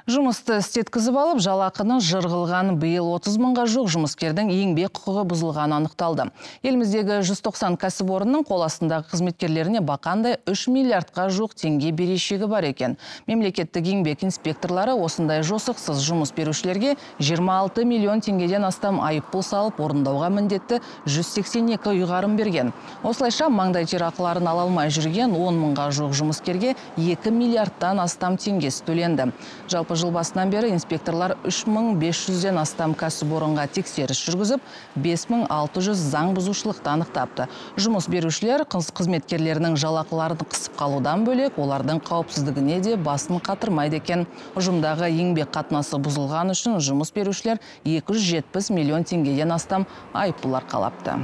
Жұмысты істеткізіп алып, жалақыны жырғылған биыл 30 мыңға жоқ жұмыскердің еңбек құқығы бұзылғаны анықталды. Еліміздегі 190 кәсіпорынның қол астындағы қызметкерлеріне бақандай 3 миллиардқа жоқ теңге берешегі бар екен. Мемлекеттік еңбек инспекторлары осындай жосықсыз жұмыс берушілерге 26 миллион теңгеден астам айыппұл салып, орындауға міндетті 182 ұйғарым берген. Осылайша маңдай терақыларын ала алмай жүрген 10 мыңға жоқ жұмыскерге 2 миллиардтан астам теңгесі төленді. Жалпы жыл басынан бері инспекторлар 3500-ден астам кәсіпорынға тексеріс жүргізіп, 5600 заң бұзушылықты анықтапты. Жұмыс берушілер қызметкерлерінің жалақыларын қысып қалудан бөлек, олардың қауіпсіздігіне де басын қатырмайды екен. Ұжымдағы еңбек қатынасы бұзылған үшін жұмыс берушілер 270 миллион теңгеден астам айыппұл арқалапты.